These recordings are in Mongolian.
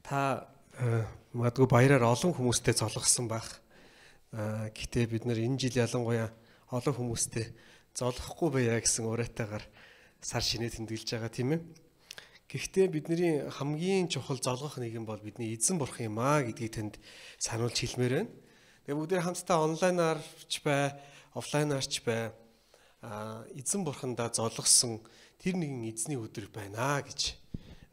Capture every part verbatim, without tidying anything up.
Та магадгүй баяраар олон хүмүүстэй золгосон байх. Гэхдээ бид нар энэ жил ялангуяа олон хүмүүстэй золгохгүй байя гэсэн уриатайгаар сар шинэ тэмдэглэж байгаа тийм ээ. Гэхдээ бидний хамгийн чухал золгох нэгэн бол бидний эзэн бурхан юм аа гэдгийг танд сануулж хэлмээр байна. Тэгээ бүгдээ хамтдаа онлайнаар ч бай, офлайнаар ч бай эзэн бурхандаа золгосон тэр нэгэн эзний өдөр байна гэж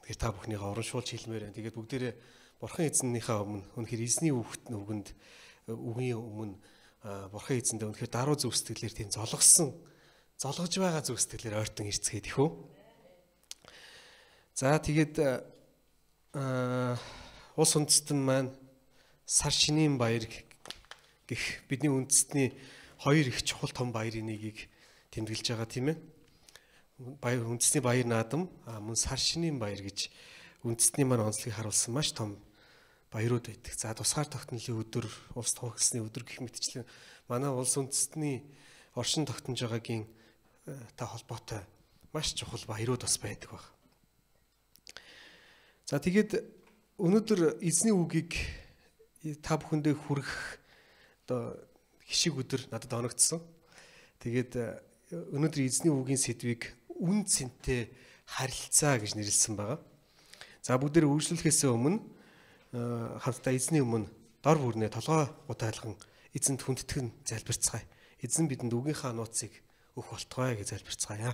тэгэхээр та бүхнийхээ урамшуулж хэлмээр байна. Тэгээд бүгдээрээ бурхан эзнийхээ өмнө үнэхээр эзний үгт нүгэнд үгийн өмнө бурхан эзэндээ үнэхээр даруй зүв сэтгэлээр тийм золгосон золгож байгаа зүв сэтгэлээр ойртон ирцгээд их үү. За тэгээд улс үндэстэн маань сар шинийн баяр гэх бидний үндэстний хоёр их чухал том баярын нэгийг тэмдэглэж байгаа тийм ээ. Баяр үндэстний баяр наадам мөн сар шинийн баяр гэж үндэстний маань онцлогийг харуулсан маш том баярууд байдаг. За тусгаар тогтнолын өдөр, улс тохиолсны өдөр гэх мэтчлэн манай улс үндэстний оршин тогтнож байгаагийн та холбоотой маш чухал баярууд бас байдаг баг. За тэгээд өнөөдөр эзний үгийг та бүхэндээ хүргэх одоо хишиг өдөр надад оногдсон. Тэгээд өнөөдөр эзний үгийн сэдвийг үн цэнтэй харилцаа гэж нэрлсэн байгаа. За бүгдээр үргэлжлүүлэхээс өмнө хамтдаа эзний өмнө дор бүрнээ толгой гутайлган эзэнд хүндэтгэн залбирцгаая. Эзэн бидэнд үгийнхаа нууцыг өгөх болтугай гэж залбирцгаая.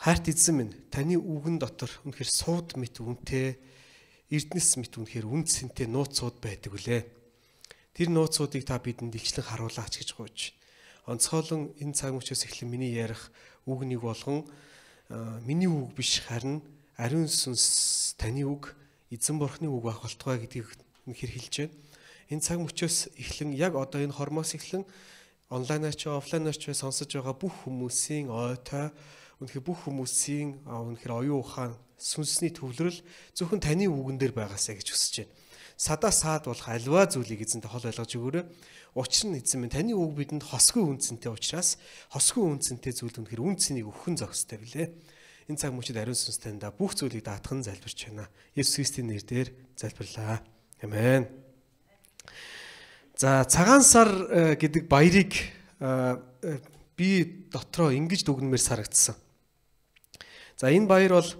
Хайрт эзэн минь, таны үгэн дотор үнэхээр сууд мэт үнэтэй, эрдэнэс мэт үнэхээр үн цэнтэй нууцуд байдаг үлээ. Тэр нууцуудыг та бидэнд илчлэн харуулаач гэж гуйж. Онцгойлон энэ цаг мөчөөс эхлэн миний ярих үг нэг болгон миний үг биш харин ариун сүнс таны үг эзэн бурхны үг байх болтугай гэдгийг үнэхээр хэлж байна. Энэ цаг мөчөөс эхлэн яг одоо энэ хормоос эхлэн онлайнаар ч офлайнаар ч сонсож байгаа бүх хүмүүсийн ойтой үнэхээр бүх хүмүүсийн үнэхээр оюун ухаан сүнсний төвлөрөл зөвхөн таны үгэн дээр байгаасаа гэж хүсэж байна. Садаа саад болох альва зүйлийг эзэнтэй хол ойлгож өгөөрэй. Учир нь эзэн минь таны үг бидэнд хосгүй үнцэнтэй учраас хосгүй үнцэнтэй зүйл үнэхээр үнцнийг өгөхөн зохистой билээ. Энэ цаг мөчид ариун сүнс таньда бүх зүйлийг даатхан залбирч байна. Есүс Христийн нэрээр залбирлаа. Амен. За цагаан сар гэдэг баярыг би дотроо ингэж дүгнэмээр сарагдсан. За энэ баяр бол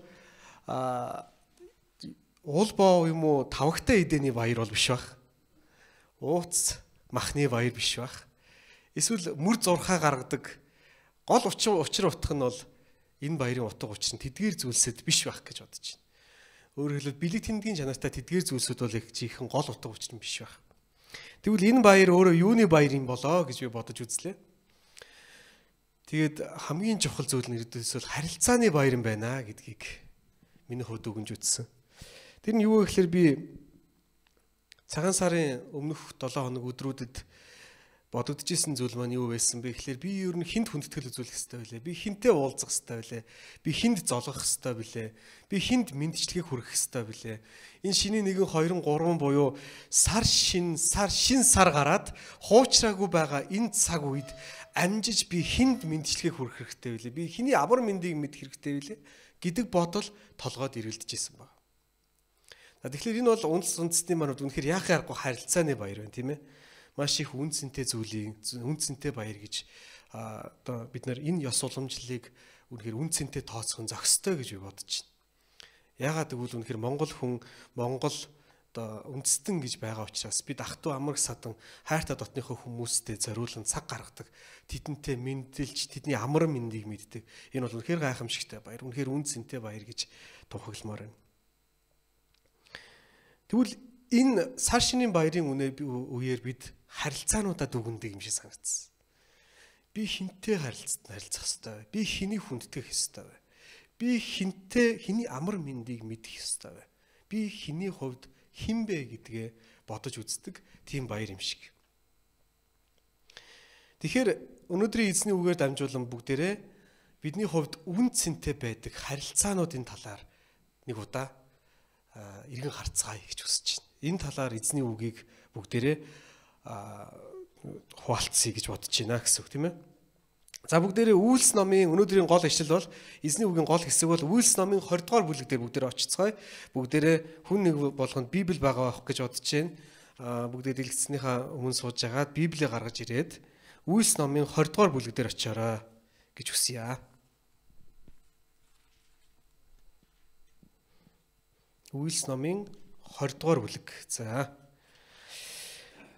уулбоо юм уу тавагтай эдэний баяр бол биш бах. Ууц махны баяр биш бах. Эсвэл мүр зурхаа гаргадаг гол учир учир утга нь бол энэ баярын утга учир нь тэдгээр зүйлсэд биш байх гэж бодож байна. Өөрөөр хэлбэл бэлэг тэмдгийн чанартай тэдгээр зүйлсүүд бол их жинхэнэ гол утга учир нь биш байх. Тэгвэл энэ баяр өөрөө юуны баяр юм болоо гэж би бодож үзлээ. Тэгээд хамгийн чухал зүйл нь ердөөсөө харилцааны баяр юм байна гэдгийг миний хувьд өгөнж үзсэн. Тэр нь юу вэ гэхээр би цагаан сарын өмнөх долоо хоног өдрүүдэд бодогдож исэн зүйл маань юу байсан бэ гэхээр би ер нь хинт хүндэтгэл үзүүлэх хэрэгтэй байлээ. Би хинтээ уулзах хэрэгтэй байлээ. Би хинд золгох хэрэгтэй билээ. Би хинд мэндчлэгийг хүргэх хэрэгтэй билээ. Энэ шиний нэгэн хоёрын гурван буюу сар шин сар шин сар гараад хуучраагүй байгаа энэ цаг үед амжиж би хинд мэндчлэгийг хүргэх хэрэгтэй билээ. Би хиний амар мэндийг мэдэх хэрэгтэй билээ гэдэг бодол толгойд ирэлдэж исэн баг. Тэгэхээр энэ бол үндэс үндэстний манад үнэхээр яах аргагүй харилцааны баяр байна тийм ээ. Маш их үн цэнтэй зүйлийг үн цэнтэй баяр гэж одоо бид нар энэ ёс уламжлалыг үнэхээр үн цэнтэй тооцох зохистой гэж би бодож байна. Яагаад гэвэл үнэхээр Монгол хүн Монгол одоо үндэстэн гэж байгаа учраас бид ах トゥ амраг садан хайртай дотныхоо хүмүүстэй зориулан цаг гаргадаг. Тэдэнтэй мэндэлж тэдний амар мэндийг мэддэг. Энэ бол үнэхээр гайхамшигтай баяр. Үнэхээр үн цэнтэй баяр гэж тухагламаар байна. Тэгвэл энэ сар шинийн баярын үеэр бид харилцаануудаа дүгндэг юм шиг санагдсан. Би хинтээ харилцаад харилцах ёстой. Би хэнийг хүндэтгэх ёстой вэ? Би хинтээ хэний амар мэндийг мэдэх ёстой вэ? Би хэний хувьд хэн бэ гэдгээ бодож үздэг тийм баяр юм шиг. Тэгэхээр өнөөдрийн эзний үгээр дамжуулан бүгдээрээ бидний хувьд үн цэнтэй байдаг харилцаануудын талаар нэг удаа иргэн харцгаая гэж хүсэж байна. Энэ талаар эзний үгийг бүгдээрээ хуваалцъя гэж бодож байна гэсэн үг тийм ээ. За бүгдээрээ Үйлс номын өнөөдрийн гол ишлэл бол эзний үгийн гол хэсэг бол Үйлс номын двадцать дугаар бүлэг дээр бүгдээрээ очицгоё. Бүгдээрээ хүн нэг болгонд Библи байгаа авах гэж бодож байна. Аа бүгдээ дэлгэцснийхаа өмнө сууж агаад Библийг гаргаж ирээд Үйлс номын двадцать дугаар бүлэг дээр очиорой гэж хүсье. Үйлс номын двадцать дугаар бүлэг. За.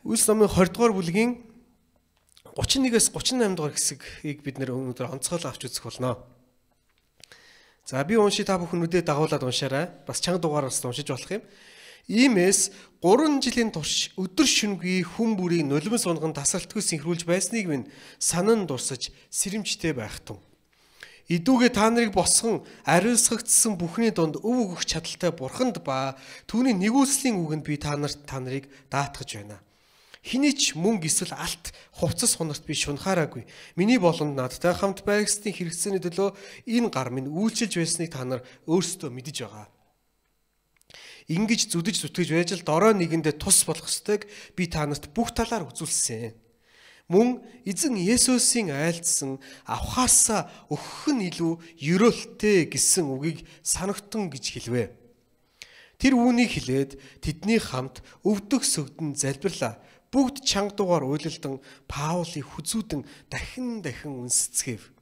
Үйлс номын двадцать дугаар бүлгийн тридцать и нэгээс тридцать и восемь дугаар хэсгийг бид нэр өнөөдөр онцгойлон авч үзэх болно. За би унши та бүхнүүдэд дагуулад уншаарай. Бас чанга дугаараас уншиж болох юм. Иймээс гурван жилийн турш өдөр шөнөгүй хүн бүрийн нулимс сунган тасралтгүй синхруулж байсныг минь санан дурсаж сэрэмжтэй байх тун. Идүүгээ та нарыг босгон ариусгагдсан бүхний дунд өв өгөх чадaltaй бурханд ба түүний нэгүслийн үгэнд би та нарт та нарыг даатгаж байна. Хэний ч мөнгө эсвэл алт хувцас хунарт би шунхаараагүй. Миний болонд надтай хамт байгсны хэрэгцээний төлөө энэ гар минь үйлчилж байсныг та нар өөрсдөө мэдэж байгаа. Ингиж зүдэж зүтгэж байж л дорой нэгэндээ тус болох ёстойг би та нарт бүх талаар үзүүлсэн. Мөн эзэн Есүсийн айлдсан авахаасаа өгөх нь илүү ерөөлтэй гэсэн үгийг санагтун гэж хэлвэ. Тэр үүнийг хэлээд тэдний хамт өвдөх сөгдөн залбирлаа. Бүгд чанга дугаар уйлалдан Паулыг хүзүүдэн дахин дахин үнсцгээв.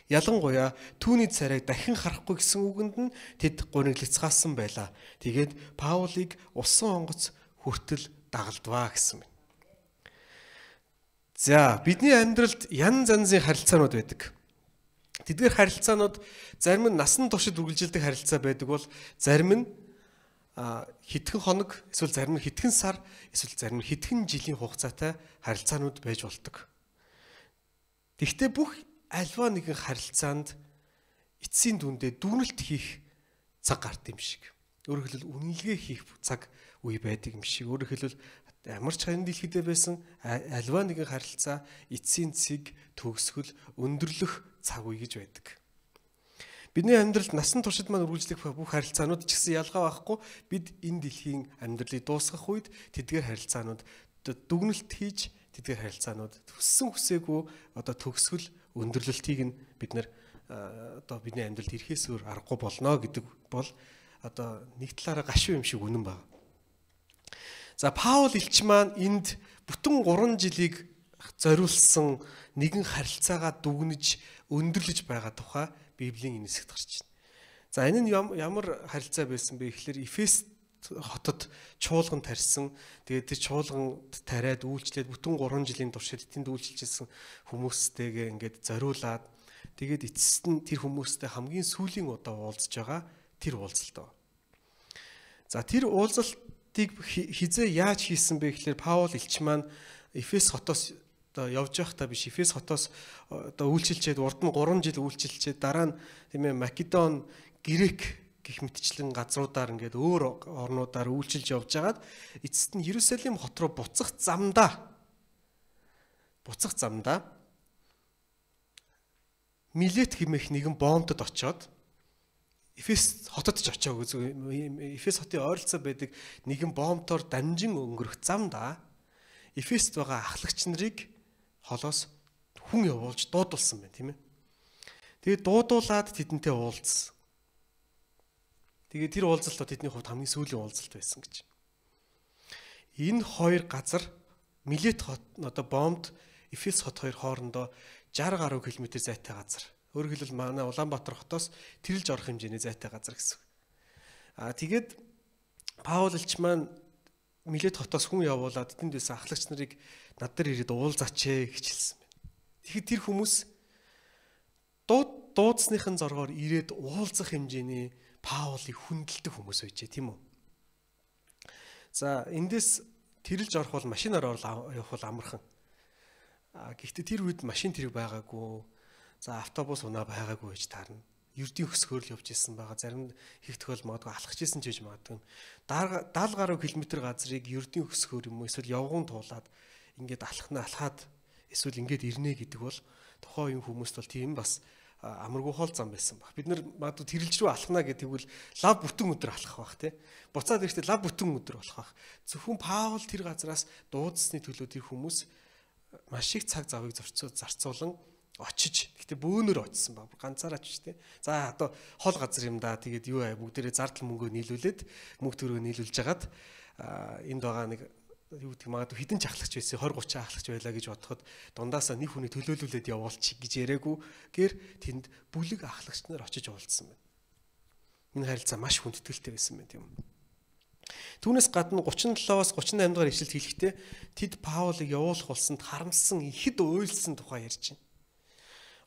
Ялангуяа түүний царайг дахин харахгүй гэсэн үгэнд нь тэд гуниглацгаасан байлаа. Тэгээд Паулыг усан онгоц хүртэл дагалдваа гэсэн байна. За, бидний амьдралд янз янзын харилцаанууд байдаг. Тэдгээр харилцаанууд зарим нь насан туршид үргэлжилдэг харилцаа байдаг бол зарим нь хэдхэн хоног, эсвэл зарим нь хэдхэн сар, эсвэл зарим нь хэдхэн жилийн хугацаатай харилцаанууд байж болдог. Гэхдээ бүх альва нэгэн харилцаанд эцсийн дүндээ дүгнэлт хийх цаг гарт юм шиг. Өөрөөр хэлбэл үнэлгээ хийх цаг үе байдаг юм шиг. Өөрөөр хэлбэл ямар ч хань дэлхийдээ байсан альва нэгэн харилцаа эцсийн цэг төгсгөл өндөрлөх цаг үе гэж байдаг. Бидний амьдралд насан туршид маань үргэлжлэх бүх харилцаанууд ч гэсэн ялгаа байхгүй. Бид энэ дэлхийн амьдралыг дуусгах үед тэдгээр харилцаанууд дүгнэлт хийж, тэдгээр харилцаанууд төссөн хүсээгүй одоо төгсгөл өндөрлөлтийг нь бид нэр одоо бидний амьдралд ирэхээс өөр аргагүй болно гэдэг бол одоо нэг талаараа гашуун юм шиг үнэн байна. За Паул элч маань энд бүтэн гурван жилийг зориулсан нэгэн харилцаагаа дүгнэж өндөрлөж байгаа тухай Библийн энэ хэсэгт гарч байна. За энэ нь ямар харилцаа байсан бэ гэхээр Эфес хотод чуулган тарьсан. Тэгээд тэр чуулганд тариад үйлчлээд бүтэн гурван жилийн туршид тэнд үйлчилжсэн хүмүүстэйгээ ингээд зориулаад тэгээд эцэст нь тэр хүмүүстэй хамгийн сүүлийн удаа уулзж байгаа тэр уулзалт. За тэр уулзалтыг хизээ яаж хийсэн бэ гэхээр Паул элч маань Эфес хотоос одоо явж байхдаа биш Эфес хотоос одоо үйлчилчээд урд нь гурван жил үйлчилчээд дараа нь тийм ээ Македон, Грек гэх мэтчлэн газруудаар ингээд өөр орнуудаар үйлчилж явж байгаад эцэст нь Иерусалим хот руу буцах замдаа буцах замдаа Милет хэмээх нэгэн боомтод очоод Эфес хотод ч очоогүй Эфес хотын ойролцоо байдаг нэгэн боомтоор дамжин өнгөрөх замдаа Эфест байгаа ахлагч нарыг холоос хүн явуулж дуудулсан байна тийм ээ. Тэгээд дуудуулаад тэдэнтэй уулзсан. Тэгээд тэр уулзалт тэдний хувьд хамгийн сүүлийн уулзалт байсан гэж. Энэ хоёр газар Милет хот одоо бомбд Эфес хот хоёр хоорондоо шестьдесят гаруй километр зайтай газар. Өөрөөр хэлбэл манай Улаанбаатар хотоос тэрэлж орох хэмжээний зайтай газар гэсэн. Аа тэгээд Паул элч маань Милет хотоос хүн явуулаад тэнд байсан ахлагч нарыг над дээр ирээд уулзаач гэж хэлсэн байна. Тэгэхээр тэр хүмүүс дууд дуудсныхын зоргоор ирээд уулзах хэмжээний Паулыг хүндэлдэг хүмүүс байжээ тийм үү? За эндээс тэрэлж орох бол машинаар явах бол амархан. А гэхдээ тэр үед машин тэрэг байгаагүй. За автобус унаа байгаагүй гэж таарна. Ердийн хөсгөөр л явж исэн байгаа. Зарим их тохиол магадгүй алхаж исэн ч гэж магадгүй. дагалт гаруй километр газрыг ердийн хөсгөөр юм уу эсвэл явган туулаад ингээд алхна алхаад эсвэл ингээд ирнэ гэдэг бол тухайн үеийн хүмүүст бол тийм бас амаргүй хоол зам байсан баг. Бид нар магадгүй тэрэлж рүү алхна гэдэг бол лав бүтэн өдөр алхах бах тий. Буцаад ирэхдээ лав бүтэн өдөр болох бах. Зөвхөн Паул тэр газраас дуудсны төлөө тэр хүмүүс маш их цаг завыг зарцуулан очиж гэхдээ бөөнөр очсон баг. Ганцаараа ч тийм. За одоо хол газар юм да. Тэгээд юу аа бүгдээрээ зардал мөнгөө нийлүүлээд мөнгө төгрөгөө нийлүүлж хагаад энд байгаа нэг юу гэдэг магадгүй хідэн ч ахлагч байсан тwenty thirty ахлагч байлаа гэж бодоход дундаасаа нэг хүний төлөөлүүлээд явуулчих гэж яриаггүй гэр тэнд бүлэг ахлагч нар очиж уулзсан байна. Энэ харилцаа маш хүндэтгэлтэй байсан байна тийм үү. Түүнээс гадна thirty-seven-аас thirty-eight дугаар ишлэлд хэлэхдээ тэд Паулыг явуулах болсонд харамсан ихэд уйлсан тухай ярьж байна.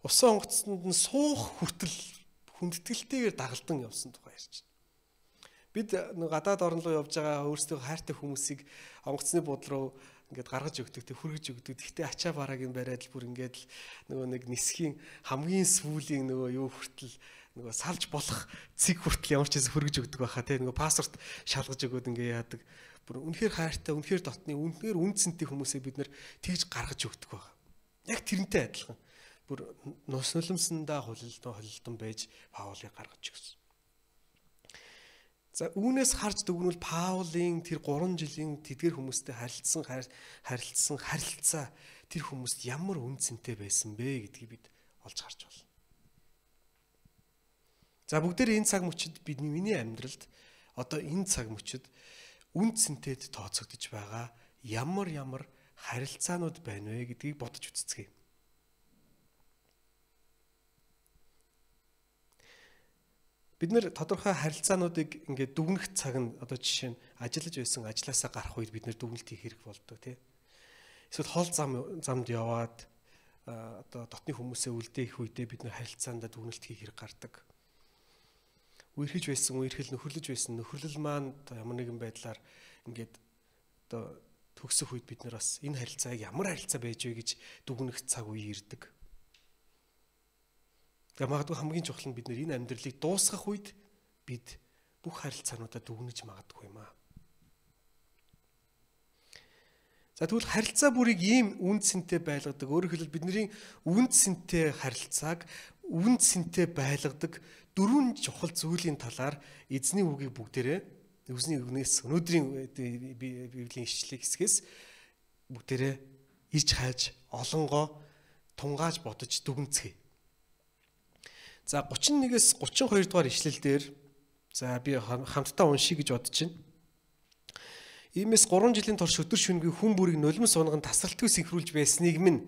Усан онгоцсонд нь суух хүртэл хүндэтгэлтэйгээр дагалдан явсан тухай ярьж байна. Бид нэг гадаад орн руу явж байгаа өөрсдөө хайртай хүмүүсийг онгоцны бууд руу ингээд гаргаж өгдөг, тэг хүргэж өгдөг. Гэхдээ ачаа бараагийн бариад л бүр ингээд л нөгөө нэг нисхийн хамгийн сүүлийн нөгөө юу хүртэл нөгөө салж болох цэг хүртэл ямар ч хэсэг хүргэж өгдөг байхаа тий нөгөө паспорт шалгаж өгөөд ингээ яадаг. Бүр үнэхээр хайртай, үнэхээр дотны, үнэхээр үнцэнтэй хүмүүсээ бид нэр тэгж гаргаж өгдөг байгаа. Яг тэрнтэй адилхан. Бүр нус нулимсандаа хулилдан холилдон байж Паулыг гаргаж өгсөн. За үүнээс харж дүгнвэл Паулын тэр three жилийн тэдгэр хүмүүстэй харилцсан харилцсан харилцаа тэр хүмүүст ямар үнцэнтэй байсан бэ гэдгийг бид олж харж байна. За бүгдээр энэ цаг мөчид бидний миний амьдралд одоо энэ цаг мөчид үнцэнтэд тооцогдож байгаа ямар ямар харилцаанууд байна вэ гэдгийг бодож үзцгээе. Бид нэр тодорхой харилцаануудыг ингээд дүгнэх цаг нь одоо жишээ нь ажиллаж байсан ажилласаа гарах үед бид нэр дүгнэлт хийх хэрэг болдог тий. Эсвэл хол зам замд яваад одоо дотны хүмүүсээ үлдээх үедээ бид нэр харилцаандаа дүгнэлт хийх хэрэг гардаг. Үерхэж байсан үерхэл нөхөрлөж байсан нөхөрлөл маань ямар нэгэн байдлаар ингээд одоо төгсөх үед бид нар бас энэ харилцааг ямар харилцаа байж вэ гэж дүгнэх цаг үе ирдэг. Тэгээ магадгүй хамгийн чухал нь бид энэ амьдралыг дуусгах үед бид бүх харилцаануудаа дүгнэж магадгүй юм аа. За тэгвэл харилцаа бүрийг ийм үн цэнтэй байлгадаг. Өөрөөр хэлбэл бидний үн цэнтэй харилцааг үн цэнтэй байлгадаг дөрвөн чухал зүйлийн талаар эзний үгийг бүгдээрээ Эзний үгнээс өнөөдрийн Библийн ишлэлийн хэсгээс бүгдээрээ ирж хайж олонгоо тунгааж бодож дүгнцгээе. За thirty-one-ээс thirty-two дугаар ишлэл дээр за би хамтдаа уншия гэж бодож байна. Иймээс three жилийн турш өдөр шөнөгүй хүн бүрийг нулимс унган тасралтгүй синхруулж байсныг минь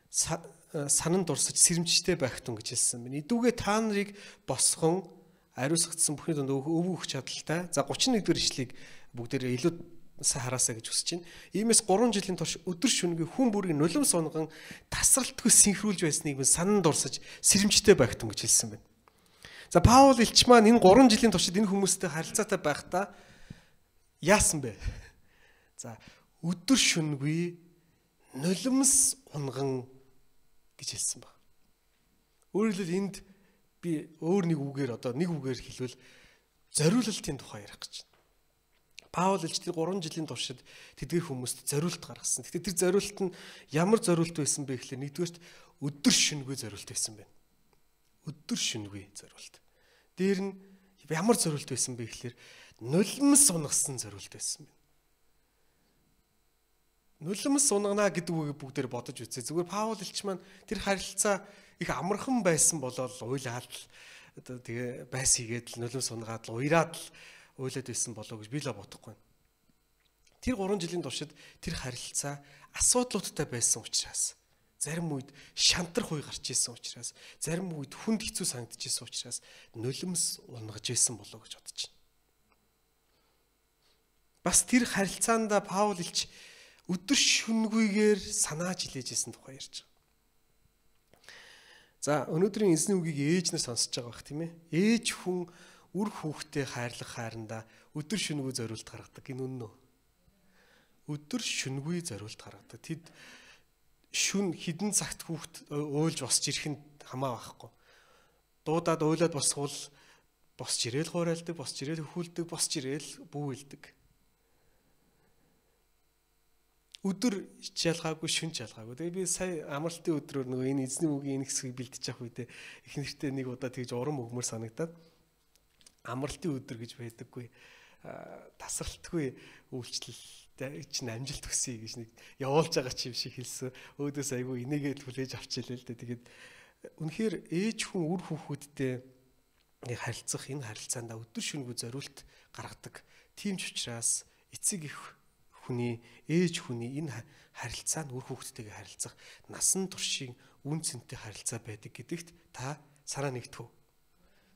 санан дурсаж сэрэмжтэй байх тун гэж хэлсэн байна. Идүүгээ та нарыг босгон ариусгагдсан бүхний дунд өвөө өгч чадaltaй. За thirty-one дугаар ишлэгийг бүгдээрээ илүү сайн хараасаа гэж хүсэж байна. Иймээс three жилийн турш өдөр шөнөгүй хүн бүрийг нулимс унган тасралтгүй синхруулж байсныг минь санан дурсаж сэрэмжтэй байх тун гэж хэлсэн байна. За Паул элч маань энэ three жилийн туршид энэ хүмүүстэй харилцаатай байхдаа яасан бэ? За өдөр шөнөгүй нулимс унган гэж хэлсэн баг. Өөрөөр хэлбэл энд би өөр нэг үгээр одоо нэг үгээр хэлвэл зориулалтын тухай ярих гэж байна. Паул элч тэр three жилийн туршид тэдгээр хүмүүст зориулт гаргасан. Гэхдээ тэр зориулт нь ямар зориулт байсан бэ гэхлээр нэгдүгээрт өдөр шөнөгүй зориулт байсан байна. Өдөр шөнөгүй зориулт. Дээр нь ямар зориулт байсан бэ гэхлээр нулимс унгасан зориулт байсан байна. Нулимс унгана гэдэг үгийг бүгдээр бодож үзье. Зүгээр Паул элч маань тэр харилцаа их амархан байсан болол уйлаад одоо тэгээ байс хийгээд л нулимс унгаад л уяраад л уйлаад байсан болоо гэж би л бодохгүй. Тэр three жилийн туршид тэр харилцаа асуудлуудтай байсан учраас, зарим үед шантар хуй гарч исэн учраас, зарим үед хүнд хэцүү санагдаж исэн учраас нулимс унгаж исэн болоо гэж бодож байна. Бас тэр харилцаанд Паул элч өдөр шөнөгүйгээр санааж илээж исэн тухай ярьж байгаа. За өнөөдрийн эзний үгийг ээж нар сонсож байгаа бах тийм ээ. Ээж хүн үр хүүхдээ хайрлах хайранда өдөр шөнөгүй зориулт гаргадаг. Энэ үнэн үү? Өдөр шөнөгүй зориулт гаргадаг. Тэд шүн хідэн цагт хүүхд уйлж босч ирэх нь хамаа байхгүй. Дуудаад уйлаад босвол босч ирээл хуурайлдаг, босч ирээл хөхүүлдэг, босч ирээл бүүэлдэг. Өдөр ялгаагүй, шүн ялгаагүй. Тэгээ би сая амралтын өдрөөр нөгөө энэ эзний үгийн энэ хэсгийг бэлдэж явах үедээ их нэртэй нэг удаа тэгж урам өгмөр санагдаад амралтын өдөр гэж байдаггүй тасралтгүй үйлчлэлтэй чинь амжилт хүсье гэж нэг явуулж байгаа ч юм шиг хэлсэн. Өөдөөс айгүй энийгээ хүлээж авчихлаа л дээ. Тэгээд үнэхээр ээж хүн үр хүүхэдтэй нэг харилцах энэ харилцаанд өдөр шөнөгүй зориулт гаргадаг. Тийм ч учраас эцэг их хүний ээж хүний энэ харилцаанд үр хүүхэдтэйгээ харилцах насан туршийн үн цэнтэй харилцаа байдаг гэдэгт та санаа нэгтгүү.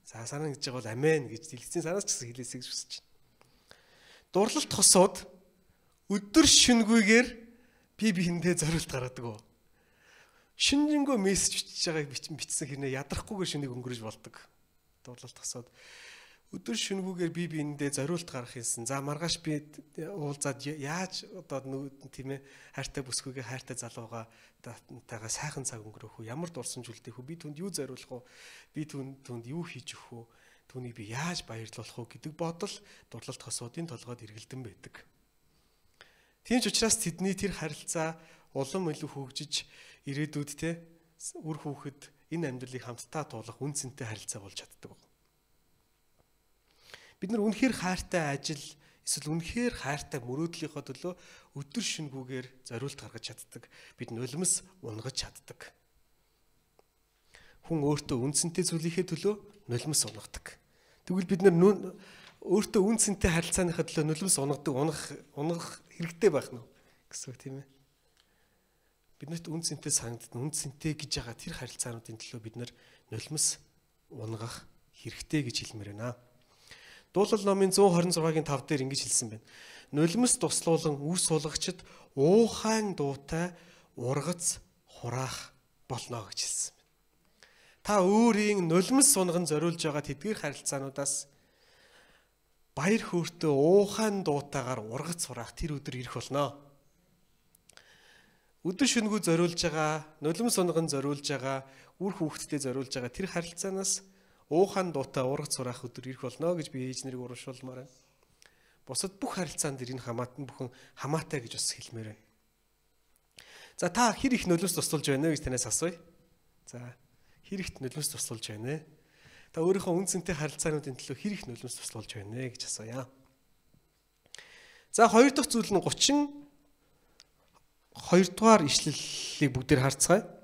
За санаа нэгж байгаа бол амен гэж дэлгэцийн санаас ч гэсэн хэлээсэй гэж хүсэж байна. Дурлалт хосоод өдөр шөнөгүйгээр би биендээ зориулт гаргадаг. Шинжэнгөө мессеж бичиж байгааг бичсэн хэрнээ ядрахгүйгээр шөнийг өнгөрөж болдог. Дурлалт хосоод өдөр шөнөгүйгээр би биендээ зориулт гаргах юмсан. За маргааш би уулзаад яаж одоо тийм ээ хайртай бүсгүйгээ хайртай залуугаа таагаа сайхан цаг өнгөрөөх үү? Ямар дурсамж үлдээх үү? Би түнд юу зориулах уу? Би түнд түнд юу хийж өгөх үү? Түүнийг би яаж баярлуулах уу гэдэг бодол дурлалт хосуудын толгойд эргэлдэн байдаг. Тийм ч учраас тэдний тэр харилцаа улам илүү хөгжиж ирээдүйд те үр хүүхэд энэ амьдралыг хамтдаа туулах үн цэнтэй харилцаа болж чаддаг. Бид нар үнэхээр хайртай ажил эсвэл үнэхээр хайртай мөрөөдлийнхөө төлөө өдөр шөнөгүйгээр зориулт гаргаж чаддаг. Бид нулимс унгаж чаддаг. Хүн өөртөө үнцэнтэй зүйлийнхээ төлөө нулимс унгадаг. Тэгвэл бид нар өөртөө үнцэнтэй харилцааныхаа төлөө нулимс унгадаг, унгах унгах хэрэгтэй байх нь гэсэн үг тийм ээ. Биднэрт үнцэнтэй санагддаг, үнцэнтэй гэж байгаа тэр харилцаануудын төлөө бид нар нулимс унгах хэрэгтэй гэж хэлмээр байна. Дуулал номын зуун хорин зургагийн тав дээр ингэж хэлсэн байна. Нулимс туслуулан үс сулгагчд уухайн дуутай ургац хураах болно гэж хэлсэн байна. Та өөрийн нулимс сунган зориулж байгаа тэдгээр харилцаануудаас баяр хөөртэй уухайн дуутайгаар ургац хураах тэр өдөр ирэх болно. Өдөр шөнөгөө зориулж байгаа, нулимс сунган зориулж байгаа, үр хүүхэдтэй зориулж байгаа тэр харилцаанаас уухан дуутай ургац сураах өдөр ирэх болно гэж би ээж нарыг урамшуулмаар байна. Бусад бүх харилцаанд ирэх хамаатан бүхэн хамаатай гэж бас хэлмээр байна. За та хэр их нулимс тусалж байна вэ гэж танаас асууя. За хэр их нулимс тусалж байна вэ? Та өөрийнхөө үнцэнтэй харилцаануудын төлөө хэр их нулимс тусалж байна вэ гэж асууя. За хоёр дахь зүйл нь гучин хоёр дугаар ишлэлийг бүгдээр харцгаая.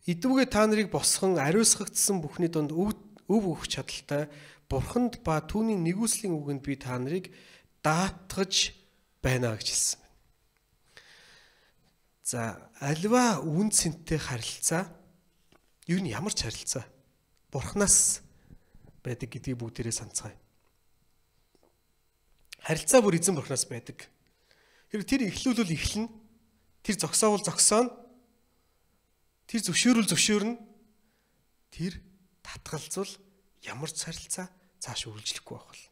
Идвүгэ та нарыг босхон ариусгагдсан бүхний дунд өв өгөх чадaltaй Бурханд ба түүний нэгүслийн үгэнд би та нарыг даатгаж байна гэж хэлсэн. За альва үн цэнтэй харилцаа юу нь ямар ч харилцаа Бурханаас байдаг гэдгийг бүгдээрээ санацгаая. Харилцаа бүр эзэн Бурханаас байдаг. Тэр тэр эхлүүлвэл эхлэнэ. Тэр зогсоовол зогсооно. Тэр зөвшөөрөл зөвшөөрнө. Тэр татгалзвал ямар ч харилцаа цааш үргэлжлэхгүй байх бол.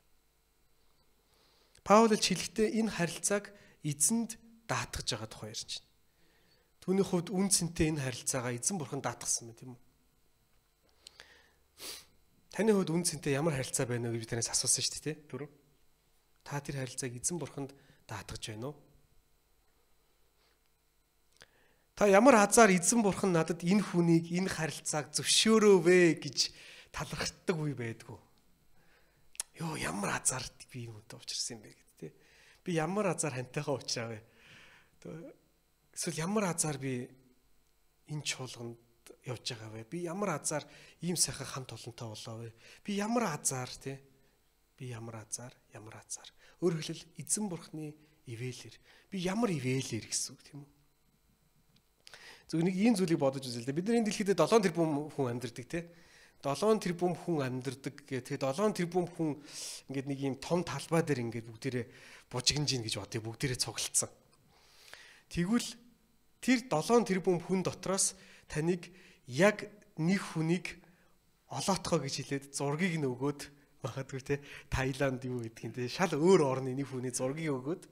Паул хэлэхдээ энэ харилцааг эзэнд даатгаж байгаа тухай ярьж байна. Түүний хувьд үн цэнтэй энэ харилцаагаа эзэн бурхан даатгасан байна тийм үү? Таны хувьд үн цэнтэй ямар харилцаа байна вэ гэж би танаас асуусан шүү дээ, түрүү. Та тэр харилцааг эзэн бурханд даатгаж байна уу? Та ямар азар эзэн бурхан надад энэ хүнийг энэ харилцааг зөвшөөрөөвэ гэж талархдаг үе байдгүй. Йоо ямар азар би юм уу уучирсан юм бэ гэдэг тий. Би ямар азар хантайхаа уучраавэ. Эсвэл ямар азар би энэ чуулганд явж байгаа вэ? Би ямар азар ийм сайхан хамт олонтой болоо вэ? Би ямар азар тий. Би ямар азар, ямар азар. Өөрөөр хэлбэл эзэн бурханы ивэлэр. Би ямар ивэлэр гэсэн үг тийм үү? Зөв нэг ийм зүйлийг бодож үзье л дээ. Бид нар энэ дэлхийд долоон тэрбум хүн амьдардаг тий. долоон тэрбум хүн амьдардаг гэх. Тэгээд долоон тэрбум хүн ингээд нэг ийм том талбай дээр ингээд бүгдээрээ бужигнж ийн гэж бодъё. Бүгдээрээ цуглалцсан. Тэгвэл тэр долоон тэрбум хүн дотроос таныг яг нэг хүнийг олоотгоо гэж хэлээд зургийг нь өгөөд магадгүй тий. Таиланд юу гэдэг юм тий. Шал өөр орны нэг хүний зургийг өгөөд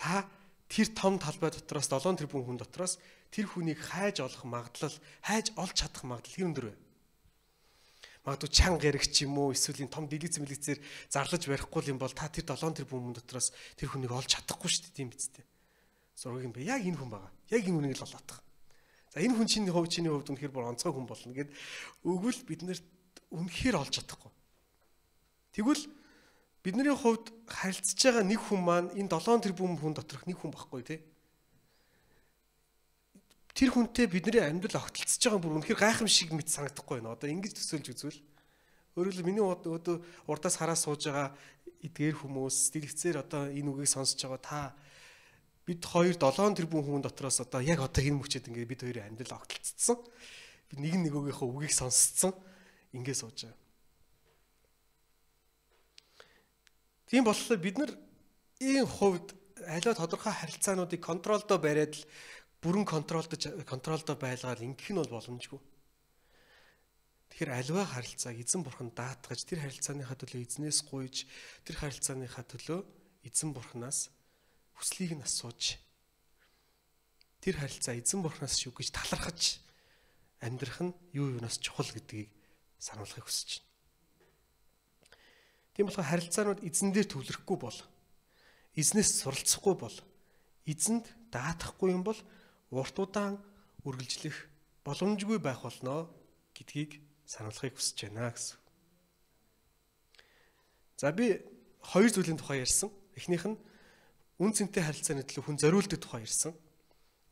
та тэр том талбай дотроос долоон тэрбум хүн дотроос тэр хүнийг хайж олох магадлал, хайж олж чадах магадлал хэр өндөр вэ? Магадгүй чанга яригч юм уу, эсвэл энэ том дэлгэц мэлгэцээр зарлаж барихгүй юм бол та тэр долоон тэрбум хүн дотроос тэр хүнийг олж чадахгүй шүү дээ, тийм биз дээ. Зургийг нь бэ. Яг энэ хүн байгаа. Яг энэ хүнийг л олоодох. За энэ хүн чиний хувьд чиний хувьд үнэхээр бүр онцгой хүн болно гэд өгвөл бид нэрт үнэхээр олж чадахгүй. Тэгвэл Бидний хувьд харилцаж байгаа нэг хүн маань энэ долоон тэрбум хүн доторх нэг хүн байхгүй тий. Тэр хүнтэй бидний амьдрал огтлцож байгаа бүр үнэхээр гайхамшиг мэт санагдахгүй байна. Одоо ингэж төсөөлж үзвэл өөрөөр хэлбэл миний одоо урдаас хараа сууж байгаа эдгээр хүмүүс дэлгэцээр одоо энэ үгийг сонсож байгаа та бид хоёр долоон тэрбум хүн дотроос одоо яг одоо энэ мөчөд ингээд бид хоёрын амьдрал огтлцсон. Бид нэг нэгөөгийнхөө үгийг сонсцсон. Ингээд сууж байгаа. Тийм болохоор бид нар энэ хувьд аливаа тодорхой харилцаануудыг контролдоо бариад л бүрэн контролдож контролдоо байлгаад ингэх нь бол боломжгүй. Тэгэхээр аливаа харилцааг эзэн бурхан даатгаж тэр харилцааныхаа төлөө эзнээс гуйж тэр харилцааныхаа төлөө эзэн бурханаас хүслийг нь асууж тэр харилцаа эзэн бурханаас шүү гэж талархаж амьдрах нь юу юунаас чухал гэдгийг сануулахыг хүсэж байна. Тийм болохоор харилцаанууд эзэн дээр төвлөрөхгүй бол эзнээс суралцахгүй бол эзэнд даатахгүй юм бол урт удаан үргэлжлэх боломжгүй байх болно гэдгийг сануулахыг хүсэж байна гэсэн. За би хоёр зүйлийн тухай ярьсан. Эхнийх нь үн цэнтэй харилцааны төлөө хүн зориулдаг тухай ярьсан.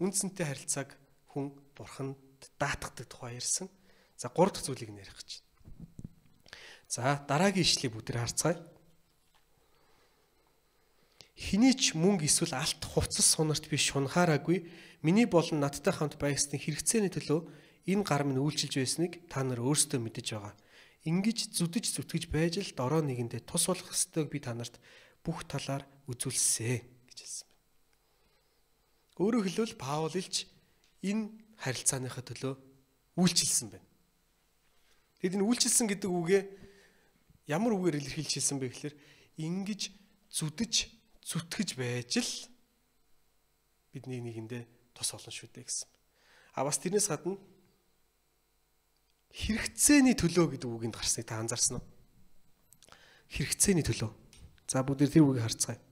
Үн цэнтэй харилцааг хүн бурханд даатгадаг тухай ярьсан. За гурав дахь зүйлийг нэрэх гэж. За дараагийн ишлэгийг бүгдээр харцгаая. Хэний ч мөнгө эсвэл алт хувцас сунарт би шунхаараагүй миний болон надтай хамт байгсны хэрэгцээний төлөө энэ гар минь үйлчилж байсныг та нар өөрсдөө мэдэж байгаа. Ингиж зүдэж зүтгэж байж л дорой нэгэндээ тус болох ёстойг би та нарт бүх талаар үзүүлсэ гэж хэлсэн байна. Өөрөөр хэлбэл Паул илж энэ харилцааныхаа төлөө үйлчилсэн байна. Тэгэд энэ үйлчилсэн гэдэг үгээ ямар үгээр илэрхийлж хэлсэн бэ гэхээр ингэж зүдэж зүтгэж байж л бидний нэгэндээ тус олон шүү дээ гэсэн. А бас тэрнээс гадна хэрэгцээний төлөө гэдэг үгэнд гарсныг та анзаарсан уу? Хэрэгцээний төлөө. За бүгд тэр үгийг харцгаая.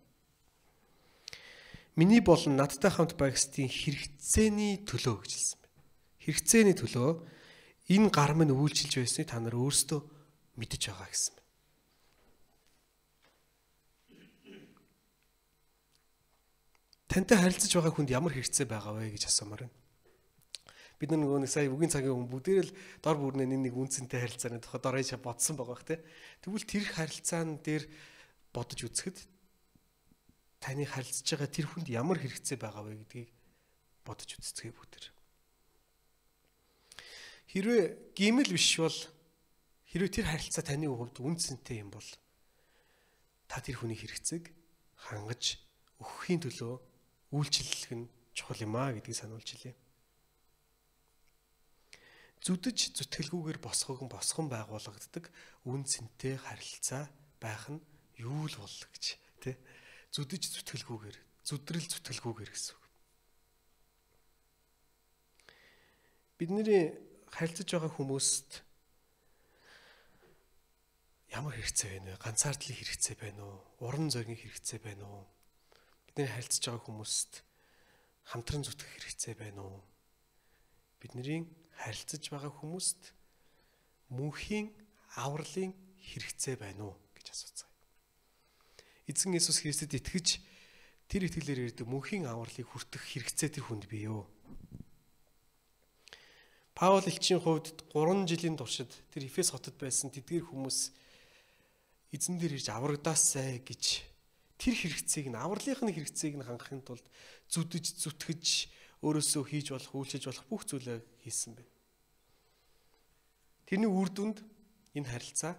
Миний болон надтай хамт байгсдын хэрэгцээний төлөө гэж хэлсэн байна. Хэрэгцээний төлөө энэ гар минь үйлчилж байсныг та нар өөрсдөө мэдэж байгаа гэсэн байна. Тантай харилцаж байгаа хүнд ямар хэрэгцээ байгаа вэ гэж асуумаар байна. Бид нөгөө нэг сая үгийн цагийн хүн бүгдээр л дор бүрнээ нэг үнцэнтэй харилцааны тухай дорой бодсон байгаа бах тий. Тэгвэл тэр харилцаан дээр бодож үзэхэд таны харилцаж байгаа тэр хүнд ямар хэрэгцээ байгаа вэ гэдгийг бодож үзцгээе бүгдээр. Хэрвээ гимэл биш бол хэрвээ тэр харилцаа таны хувьд үнцэнтэй юм бол та тэр хүний хэрэгцээг хангаж өгөхийн төлөө үйлчлэх нь чухал юм а гэдгийг сануулж илээ. Зүдэж зүтгэлгүйгээр босгон босгон байгуулагддаг үн цэнтэй харилцаа байх нь юу л бол гэж тий. Зүдэж зүтгэлгүйгээр, зүдрэл зүтгэлгүйгээр гэсэн үг. Бидний харилцаж байгаа хүмүүст ямар хэрэгцээ байна вэ? Ганцаардлын хэрэгцээ байна уу? Уран зөгийн хэрэгцээ байна уу? Бидний харилцаж байгаа хүмүүст хамтран зүтгэх хэрэгцээ байна уу? Бидний харилцаж байгаа хүмүүст мөнхийн авралын хэрэгцээ байна уу гэж асууцгаая. Эзэн Есүс Христэд итгэж тэр итгэлээр ирдэг мөнхийн авралыг хүртэх хэрэгцээ тэр хүнд бий юу? Паул элчийн хувьд гурван жилийн туршид тэр Эфес хотод байсан тэдгээр хүмүүс эзэн дээр ирж аврагдаасай гэж тэр хэрэгцээг нь авралынхны хэрэгцээг нь хангахын тулд зүдэж зүтгэж өөрөөсөө хийж болох үйлчилж болох бүх зүйлээ хийсэн байна. Тэрний үр дүнд энэ харилцаа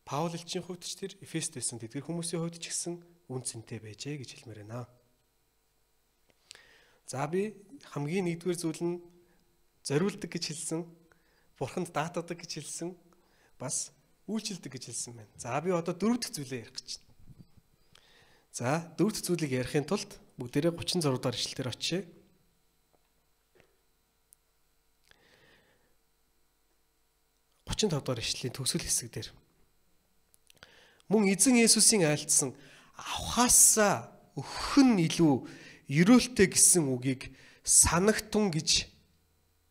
Паул элчийн хувьд ч тэр Эфест байсан тэдгээр хүмүүсийн хувьд ч гэсэн үн цэнтэй байжээ гэж хэлмээр байна. За би хамгийн нэгдүгээр зүйл нь зориулдаг гэж хэлсэн, бурханд даатгадаг гэж хэлсэн, бас үйлчилдэг гэж хэлсэн байна. За би одоо дөрөв дэх зүйлээ ярих гэж байна. За дөрөв дэх зүйлийг ярихын тулд бүгдээрээ гучин зураг дахь ишлэлээр очие. гучин тав дахь ишлэлийн төгсгөл хэсэг дээр. Мөн эзэн Есүсийн айлтсан авахаасаа өгөх нь илүү ерөөлтэй гэсэн үгийг санагтун гэж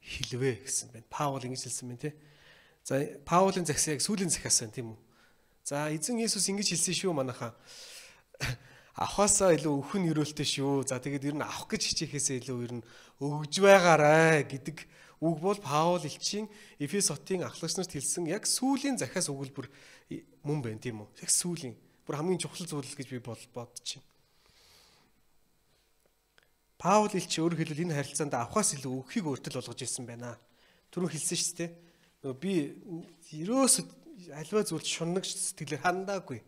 хэлвэ гэсэн байна. Паул ингэж хэлсэн байна тий. За Паулын захисыг сүүлийн захиас байна тийм үү. За эзэн Есүс ингэж хэлсэн шүү манайхаа. Авахаасаа илүү өхөн өрөөлтэй шүү. За тэгээд ер нь авах гэж хичээхээсээ илүү ер нь өгж байгаарай гэдэг үг бол Паул элчийн Эфес хотын ахлагч нарт хэлсэн яг сүүлийн захиас өгүүлбэр мөн байна тийм үү? Яг сүүлийн бүр хамгийн чухал зүйл гэж би бодож байна. Паул элч өөрөөр хэлбэл энэ харилцаанд авахаас илүү өгөхийг өөртөл болгож ирсэн байна. Түрүү хэлсэн шүү дээ. Нөгөө би ерөөсө альва зүйлд шунагч сэтгэлээр хандаагүй.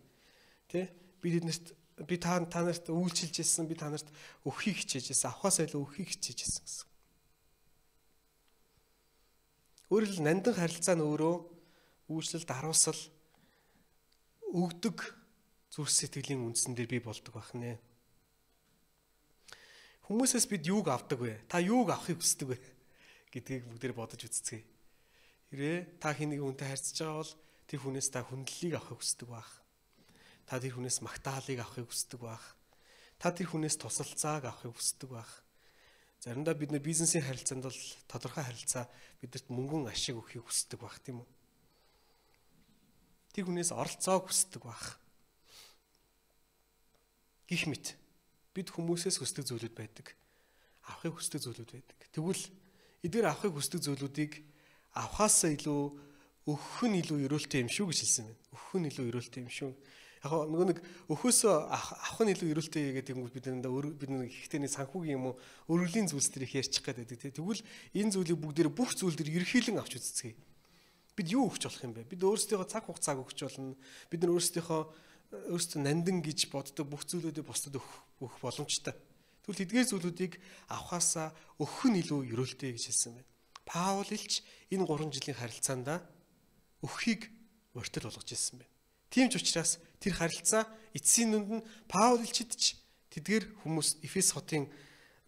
Тэ? Би тэднэрт би та та нарт үйлчилж ирсэн, би та нарт өгөхийг хичээж ирсэн, авахаас илүү өгөхийг хичээж ирсэн гэсэн. Өөрөөр хэлбэл нандин харилцаа нь өөрөө үйлчлэл, даруусал, өгдөг зүрх сэтгэлийн үндсэн дээр бий болдог байна. Хүмүүсээс бид юуг авдаг вэ? Та юуг авахыг хүсдэг вэ? Гэдгийг бүгдээр бодож үзцгээе. Хэрвээ та хэнийг хүнтэй харьцаж байгаа бол тэр хүнээс та хүндлэлийг авахыг хүсдэг байх. Та тэр хүнээс магтаалыг авахыг хүсдэг байх. Та тэр хүнээс тусалцааг авахыг хүсдэг байх. Заримдаа бид нэр бизнесийн харилцаанд бол тодорхой харилцаа бидэрт мөнгөн ашиг өгөхийг хүсдэг байх тийм үү? Тэр хүнээс оролцоог хүсдэг байх. Гэх мэт бид хүмүүсээс хүсдэг зүйлүүд байдаг. Авахыг хүсдэг зүйлүүд байдаг. Тэгвэл эдгээр авахыг хүсдэг зүйлүүдийг авахаасаа илүү өгөх нь илүү өрөөлтэй юм шүү гэж хэлсэн байна. Өгөх нь илүү өрөөлтэй юм шүү. Яг нөгөө нэг өхөөсөө авах нь илүү өрөөлтэй гэдэг юм бол бид нэндээ бид нэг ихтэй нэг санхүүгийн юм уу өргөлийн зүйлс төр их ярьчих гээд байдаг. Тэгвэл энэ зүйлийг бүгдээр бүх зүйл төр ерхийлэн авч үзцгээе. Бид юу өгч болох юм бэ? Бид өөрсдийнхөө цаг хугацааг өгч болно. Бид нар өөрсдийнхөө өөрсдөө нандин гэж боддог бүх зүйлүүдийг бусдад өгөх боломжтой. Тэгвэл тэдгээр зүйлүүдийг авахаасаа өгөх нь илүү өрөөлтэй гэж хэлсэн байна. Паул илч энэ гурван жилийн харилцаанд өгөхийг өртөл болгож ирсэн байна. Тийм ч учраас тэр харилцаа эцсийн дүнд нь Паул илчид ч тэдгээр хүмүүс Эфес хотын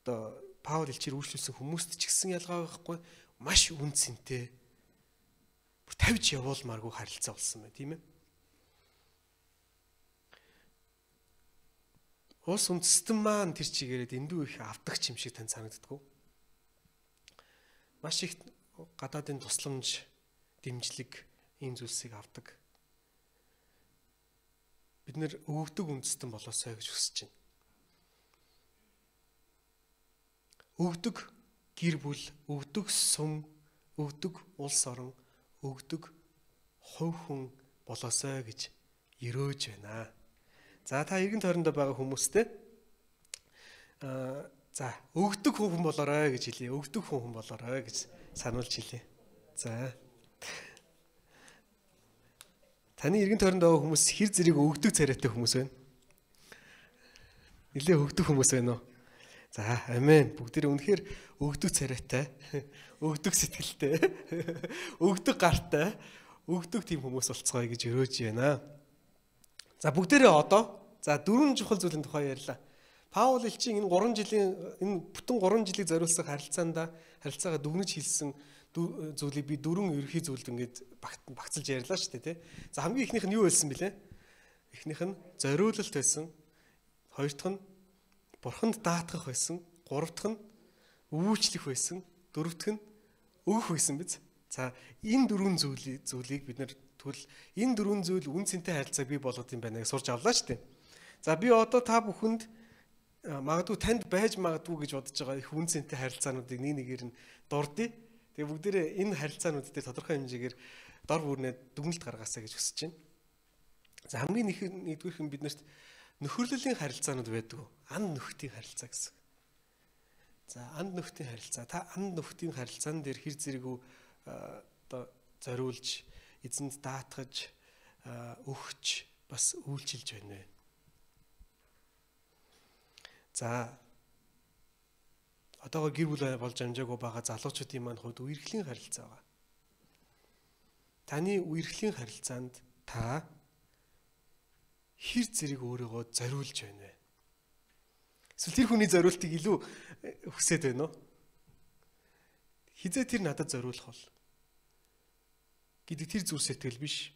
одоо Паул илчээр үйлчлүүлсэн хүмүүст ч гэсэн ялгаа байхгүй маш үн цэнтэй бүр тавьж явуулмааргүй харилцаа болсон байна тийм ээ. Улс үндэстэн маань тэр чигээрээ дэндүү их авдагч юм шиг тань санагддаг. Маш их гадаадын тусламж, дэмжлэг ийм зүйлсийг авдаг. Бид нэр өгдөг үндэстэн болоосой гэж хүсэж байна. Өгдөг гэр бүл, өгдөг сум, өгдөг улс орон, өгдөг хувь хүн болоосой гэж ерөөж байна. За та эргэн тойрондоо байгаа хүмүүстэй аа за өгдөг хүн болоорой гэж хэлье. Өгдөг хүн болоорой гэж сануулж хэлье. За. Таны эргэн тойронд байгаа хүмүүс хэр зэрэг өгдөг царайтай хүмүүс байна? Нилээ өгдөг хүмүүс байна уу? За, амен. Бүгдээ үнэхээр өгдөг царайтай, өгдөг сэтгэлтэй, өгдөг гартай, өгдөг тийм хүмүүс болцгоё гэж өрөөж байна. За бүгдээрээ одоо за дөрвөн чухал зүйлийн тухай ярьлаа. Паул элчийн энэ гурван жилийн энэ бүтэн гурван жилийг зориулсан харилцаанда харилцаагаа дүгнэж хэлсэн зүйлийг би дөрвөн ерөнхий зүйлд ингээд багцлж ярьлаа шүү дээ, тий. За хамгийн ихнийх нь юу байсан бэлээ? Эхнийх нь зориулалт байсан. Хоёр дахь нь бурханд даатгах байсан. Гурав дахь нь үйлчлэх байсан. Дөрөв дахь нь өгөх байсан биз. За энэ дөрвөн зүйлийг зүйлийг бид нэр тэгвэл энэ дөрвөн зүйл үн цэнтэй харилцааг бий болгох юм байна гэж сурч авлаа шүү дээ. За би одоо та бүхэнд магадгүй танд байж магадгүй гэж бодож байгаа их үн цэнтэй харилцаануудыг нэг нэгээр нь дурдъя. Тэгээ бүгдээрээ энэ харилцаанууд дээр тодорхой хэмжээгээр дор бүрнээ дүгнэлт гаргаасаа гэж хүсэж байна. За хамгийн нэгдүгээрх нь биднэрт нөхөрлөлийн харилцаанууд байдаг. Анд нөхдийн харилцаа гэсэн. За анд нөхдийн харилцаа. Та анд нөхдийн харилцаан дээр хэр зэрэг одоо зориулж эзэнд даатгаж өгч бас үйлчилж байна вэ? За одоогоор гэр бүл болж амжаагүй байгаа залуучуудын маань хувьд үерхлийн харилцаа байгаа. Таны үерхлийн харилцаанд та хэр зэрэг өөрийгөө зориулж байна вэ? Эсвэл тэр хүний зориултыг илүү хүсэж байна уу? Хизээ тэр надад зориулах бол гэдэг тэр зүрх сэтгэл биш.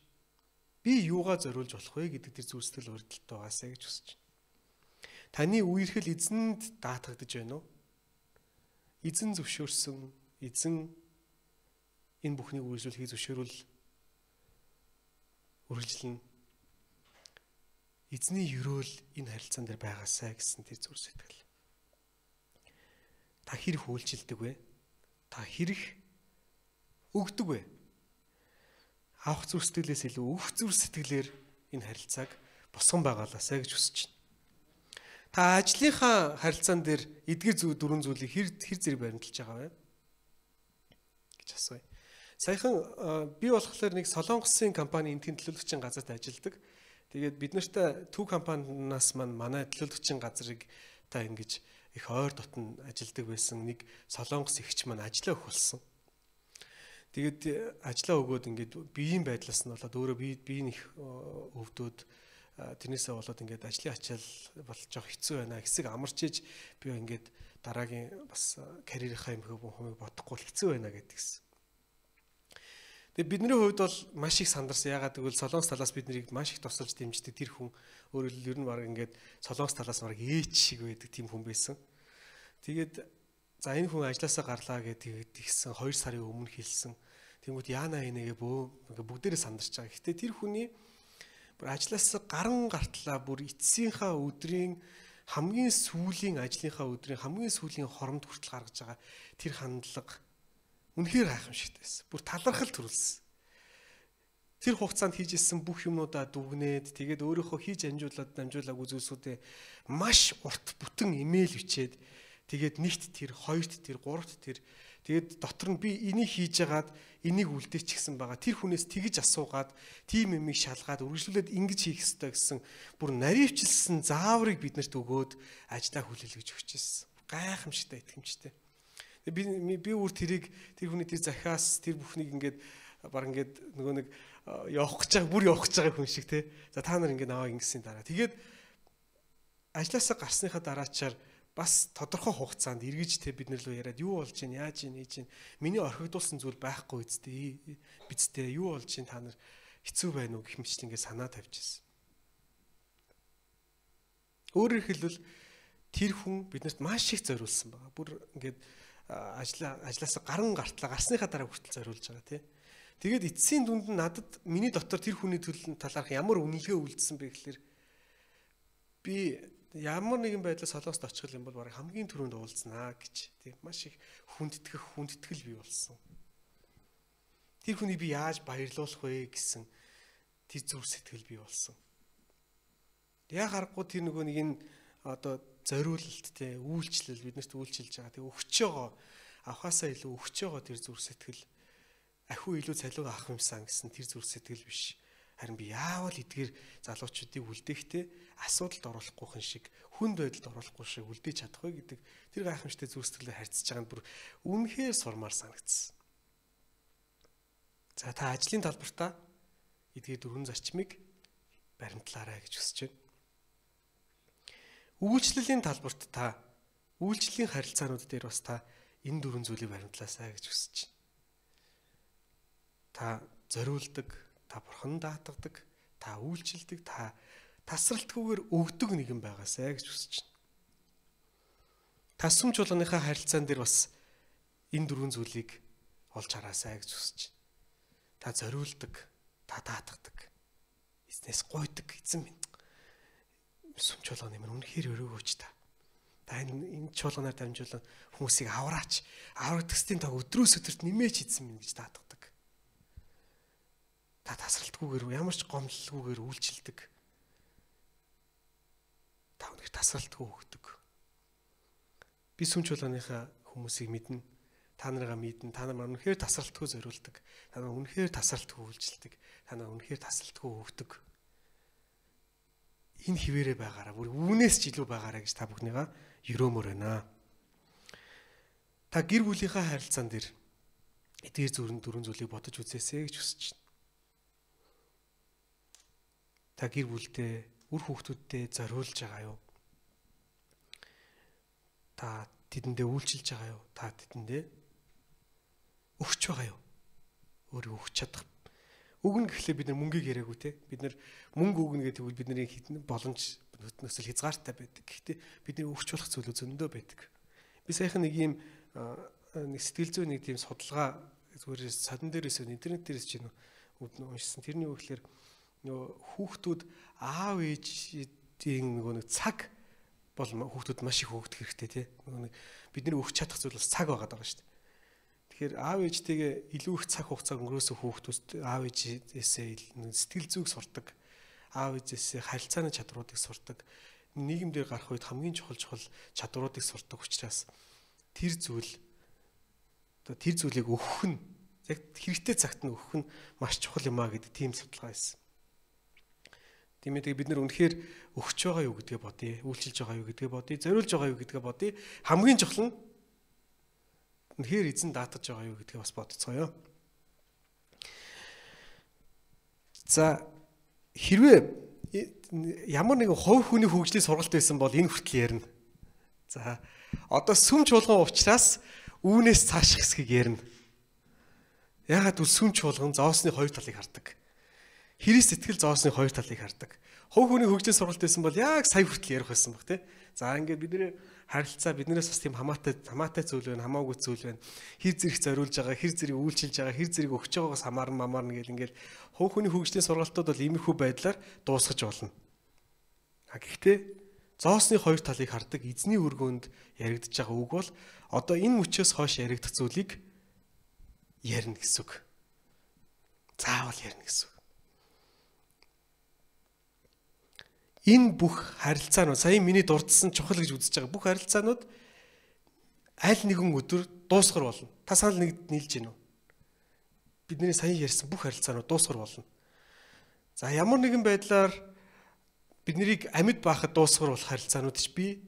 Би юугаа зориулж болох вэ гэдэг тэр зүрх сэтгэл өрдөлтөй байгаасаа гэж хүсэж байна. Таны үерхэл эзэнд даатгагдж байна уу? Эзэн зөвшөөрсөн, эзэн энэ бүхнийг үйлчлэхийг зөвшөөрвөл үргэлжлэн эзний өрөөл энэ харилцаан дээр байгаасай гэсэн тэр зүрх сэтгэл. Та хэрэг үйлчилдэг вэ? Та хэрэг өгдөг вэ? Авах зүрх сэтгэлээс илүү өгөх зүрх сэтгэлээр энэ харилцааг босгон байгаалаасай гэж хүсэж байна. Та ажлынхаа харилцаан дээр эдгээр зүйл дөрвөн зүйлийг хэр хэр зэрэг баримталж байгаа вэ гэж асууя. Саяхан би болохоор нэг Солонгосын компани энтийн төлөөлөгчийн газарт ажилладаг. Тэгээд бид нарт төв компаниас маань манай төлөөлөгчийн газрыг та ингэж их ойр дотн ажилладаг байсан нэг Солонгос эгч маань ажиллаа өгөх болсон. Тэгээд ажиллаа өгөөд ингээд биеийн байдлаас нь болоод өөрөө бие биеийн их өвдөөд тэрнээсээ болоод ингээд ажлын ачаал болж жоох хэцүү байна. Хэсэг амарч иж би ингээд дараагийн бас карьерийнхаа юм хүмүүс бодохгүй хэцүү байна гэдгийгсэн. Тэгээд бидний хувьд бол маш их сандарсан. Ягаад гэвэл Солонгос талаас бид нарыг маш их тусалж дэмждэг тэр хүн өөрөө л ер нь баг ингээд Солонгос талаас баг ээч шиг байдаг тийм хүн байсан. Тэгээд за энэ хүн ажилласаа гарлаа гэдэг тэгсэн хоёр сарын өмнө хэлсэн. Тэнгүүд яана энэгээ бөө бүгдээрээ сандарч байгаа. Гэтэ тэр хүний бүр ажилласаа гаран гартлаа бүр эцсийнхаа өдрийн хамгийн сүүлийн ажлынхаа өдрийн хамгийн сүүлийн хоромд хүртэл гаргаж байгаа тэр хандлага үнэхээр гайхамшигтай байсан. Бүр талархал төрүүлсэн. Тэр хугацаанд хийжсэн бүх юмнуудаа дүгнээд тэгээд өөрийнхөө хийж амжуулаад амжуулаагүй зүйлсүүдээ маш урт бүтэн имэйл бичээд тэгээд нэгт тэр, хоёрт тэр, гуравт тэр тэгээд дотор нь би энийг хийж агаад энийг үлдээч гэсэн байгаа. Тэр хүнээс тэгж асуугаад тийм юмыг шалгаад үргэлжлүүлээд ингэж хийх ёстой гэсэн бүр наривчилсан зааврыг биднэрт өгөөд ажлаа хүлээлгэж өгч ирсэн. Гайхамшигтай итгэмжтэй. Би би бүр тэрийг тэр хүний тэр захиас тэр бүхнийг ингээд баг ингээд нөгөө нэг явах гэж байгаа бүр явах гэж байгаа хүн шиг те. За та нар ингээд наваа ингэсэн дараа. Тэгээд ажлаасаа гарсныхаа дараачаар бас тодорхой хугацаанд эргэж те бид нар лөө яриад юу болж чинь яаж ийн ээж ийн миний орхигдуулсан зүйл байхгүй үсттэй бидтэй юу болж чинь та нар хэцүү байна уу гэх мэт ингээд санаа тавьж ирсэн. Өөрөөр хэлбэл тэр хүн биднэрт маш их зориулсан байгаа. Бүр ингээд ажлаа ажлаасаа гаран гартлаа гарсныхаа дараа хүртэл зориулж байгаа тий. Тэгээд эцсийн дүнд нь надад миний дотор тэр хүний төлөв талаарх ямар үнэлгээ үлдсэн бэ гэхээр би ямар нэгэн байдлаар Солонгост очих юм бол бараг хамгийн түрүүнд уулзнаа гэж тий маш их хүндэтгэх хүндэтгэл бий болсон. Тэр хүнийг би яаж баярлуулах вэ гэсэн тэр зүрх сэтгэл бий болсон. Яг харахгүй тэр нөгөө нэг энэ одоо зориулалт те үйлчлэл биднэрт үйлчилж байгаа. Тэг өгч байгаа авахаасаа илүү өгч байгаа тэр зүрх сэтгэл ахиу илүү цалиу авах юмсан гэсэн тэр зүрх сэтгэл биш. Харин би яавал эдгээр залуучуудыг үлдээхдээ асуудалд оруулахгүй хүн шиг хүнд байдалд оруулахгүй шиг үлдээж чадах вэ гэдэг тэр гайхамшигтай зүрх сэтгэлээр харьцаж байгаа нь бүр үнэхээр сурмаар санагдсан. За та ажлын талбартаа эдгээр дөрвөн зарчмыг баримтлаарай гэж хүсэж байна. Үйлчлэлийн талбарт та үйлчлэлийн харилцаанууд дээр бас та энэ дөрвөн зүйлийг баримтлаасай гэж хүсэж байна. Та зориулдаг, та бурхан даатгадаг, та үйлчлдэг, та тасралтгүйгээр өгдөг нэгэн байгаасай гэж хүсэж байна. Та сүм чуулганыхаа харилцаан дээр бас энэ дөрвөн зүйлийг олж хараасай гэж хүсэж байна. Та зориулдаг, та даатгадаг, эзнээс гуйдаг эзэн минь. Сүм чуулганы минь үнэхээр өрөөгөөч та. Та энэ энэ чуулганаар дамжуулан хүмүүсийг авраач. Аврагдахстын таг өдрөөс өдөрт нэмээч эзэн минь гэж даатгадаг. Та тасралтгүйгээр ямар ч гомдлгүйгээр үйлчилдэг. Та үнэхээр тасралтгүй өгдөг. Би сүм чуулганыхаа хүмүүсийг мэднэ. Та нарыгаа мэднэ. Та нар үнэхээр тасралтгүй зориулдаг. Та нар үнэхээр тасралтгүй үйлчилдэг. Та нар үнэхээр тасралтгүй өгдөг. Энэ хിവэрэ байгаараа бүр үүнээс ч илүү байгаараа гэж та бүхнийгаа өрөмөр байна. Та гэр бүлийнхаа харилцаан дээр эдгээр зүрэн дөрвөн зүйлийг бодож үзээсэй гэж хүсэж байна. Та гэр бүлдээ үр хүүхдүүддээ зориулж байгаа юу? Та тэдэндээ үйлчилж байгаа юу? Та тэдэндээ өгч байгаа юу? Өөрөө өгч чадах. Өгнө гэхлээр бид нар мөнгийг яриаггүй те. Бид нар мөнгө өгнө гэдэг нь бидний хитэн боломж нөхцөл хязгаартай байдаг. Гэхдээ бидний өгч болох зүйлүүд зөндөө байдаг. Би саяхан нэг юм нэг сэтгэл зүйн нэг тийм судалгаа зүгээр садан дээрээс интернет дээрээс чинь уншсан. Тэрний үг гэхэлэр нөгөө хүүхдүүд аав ээжийн нөгөө нэг цаг бол хүүхдүүд маш их хөөгдөх хэрэгтэй тий. Нөгөө нэг бидний өгч чадах зүйл бас цаг байгаа даа шүү дээ. Тэгэхээр аав ээжтэйгээ илүү их цаг хугацаа өнгөрөөсөн хүүхдүүд аав ээжээсээ сэтгэл зүйг сурдаг. Аав ээжээсээ харилцааны чадруудыг сурдаг. Нийгэм дээр гарах үед хамгийн чухал чухал чадруудыг сурдаг учраас тэр зүйл одоо тэр зүйлийг өгөх нь яг хэрэгтэй цагт нь өгөх нь маш чухал юм а гэдэг тийм судалгаа байсан. Тийм ээ бид нар үнэхээр өгч байгаа юу гэдгээ бодъё, үйлчилж байгаа юу гэдгээ бодъё, зориулж байгаа юу гэдгээ бодъё. Хамгийн чухал нь үнэхээр эзэн даатгаж байгаа юу гэдгээ бас бодцгоё. За хэрвээ ямар нэгэн хувь хүний хөгжлийн сургалт байсан бол энэ хүртэл ярина. За одоо сүм чуулган учраас үүнээс цааших хэсгийг ярина. Яагаад гэвэл сүм чуулган зоосны хоёр талыг хардаг. Христ итгэл зоосны хоёр талыг хардаг. Хувь хүний хөгжлийн сургалт байсан бол яг сая хүртэл ярих байсан баг тий. За ингээд бидний харилцаа биднээс бас тийм хамаатай хамаатай зүйл байна, хамаагүй зүйл байна. Хэр зэрэг зориулж байгаа, хэр зэрэг үйлчилж байгаа, хэр зэрэг өгч байгаагаас хамаарна мамаарна гэл ингээд хувь хүний хөгжлийн сургалтууд бол иймэрхүү байдлаар дуусгаж болно. А гэхдээ зоосны хоёр талыг хардаг эзний өргөөнд яригдж байгаа үг бол одоо энэ мөчөөс хойш яригдах зүйлийг ярина гэсэн үг. Заавал ярина гэсэн үг. Энэ бүх харилцаанууд сая миний дурдсан чухал гэж үзэж байгаа бүх харилцаанууд аль нэгэн өдөр дуусгар болно. Та санал нэг нийлж гинөө. Бидний сая ярьсан бүх харилцаанууд дуусгар болно. За ямар нэгэн байдлаар биднийг амьд байхад дуусгар болох харилцаанууд ч бий.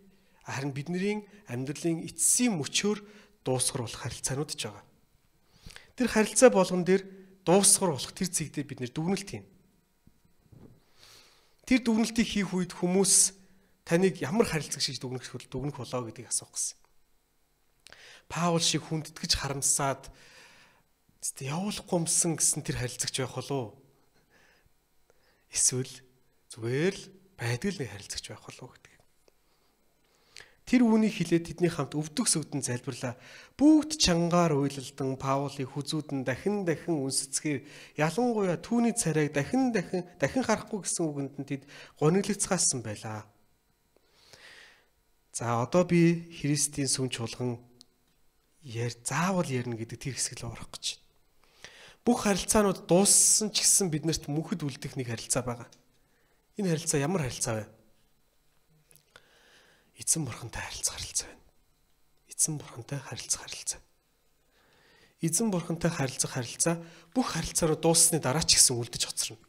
Харин бидний амьдралын эцсийн мөчөөр дуусгар болох харилцаанууд ч байгаа. Тэр харилцаа болгон дээр дуусгар болох тэр зэгдээ бид нэр дүгнэлт хийн. Тэр дүгнэлтийг хийх үед хүмүүс таныг ямар харилцагч гэж дүгнэх дүгнэх болоо гэдгийг асуух гэсэн. Паул шиг хүндэтгэж харамсаад явуулахгүй юмсан гэсэн тэр харилцагч байх болов уу? Эсвэл зүгээр л байдаг л нэг харилцагч байх болов уу гэдэг. Тэр үүнийг хэлээд тэдний хамт өвдөг сүгдэн залбирлаа. Бүгд чангаар уйлалдан Паулыг хүзүүдэн дахин дахин үнсэцгээр ялангуяа түүний царайг дахин дахин дахин харахгүй гэсэн үгэнд нь тэд гониглогцгаасан байлаа. За одоо би Христийн сүм чуулган яар заавал ярина гэдэг тэр хэсэг л орох гэж байна. Бүх харилцаанууд дууссан ч гэсэн биднэрт мөнхөд үлдэх нэг харилцаа байгаа. Энэ харилцаа ямар харилцаа вэ? Эзэн бурхантай харилцах харилцаа байна. Эзэн бурхантай харилцах харилцаа. Эзэн бурхантай харилцах харилцаа бүх харилцаараа дууссаны дараа ч гэсэн үлдэж хоцорно.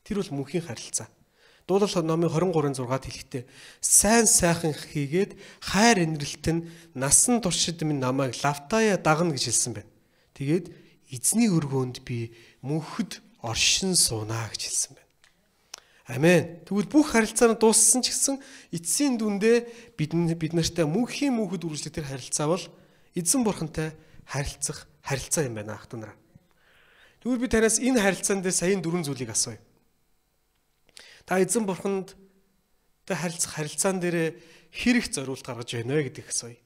Тэр бол мөнхийн харилцаа. Дуулал номын двадцать три зургаад хэлэхдээ сайн сайхан хийгээд хайр инрэлт нь насан туршид минь намайг лавтая дагна гэж хэлсэн байна. Тэгээд эзний өргөөнд би мөнхөд оршин суунаа гэж хэлсэн байна. Амен. Тэгвэл бүх харилцаа нь дууссан ч гэсэн эцсийн дүндээ бид бид нартай мөнхийн мөнхөд үргэлжлэх тэр харилцаа бол эзэн бурхантай харилцах харилцаа юм байна ах дүү нараа. Тэгвэл би танаас энэ харилцаан дээр саяын дөрвөн зүйлийг асууя. Та эзэн бурханд та харилцах харилцаан дээр хэрэг зориулт гаргаж байна вэ гэдгийг асууя.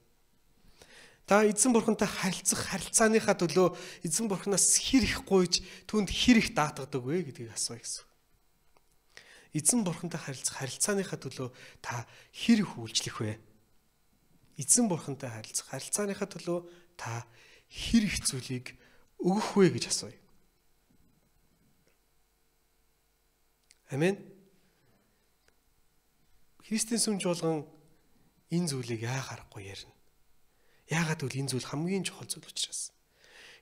Та эзэн бурхантай харилцах харилцааныхаа төлөө эзэн бурханаас хэрэг гуйж түнд хэрэг даатгадаг вэ гэдгийг асууя гэсэн. Эзэн бурхантай харилцах харилцааныхаа төлөө та хэрэг үйлчлэх вэ? Эзэн бурхантай харилцах харилцааныхаа төлөө та хэрэг зүйлийг өгөх вэ гэж асууя. Амен. Христийн сүм чуулган энэ зүйлийг яа харахгүй ярина. Яагаад гэвэл энэ зүйл хамгийн чухал зүйл учраас.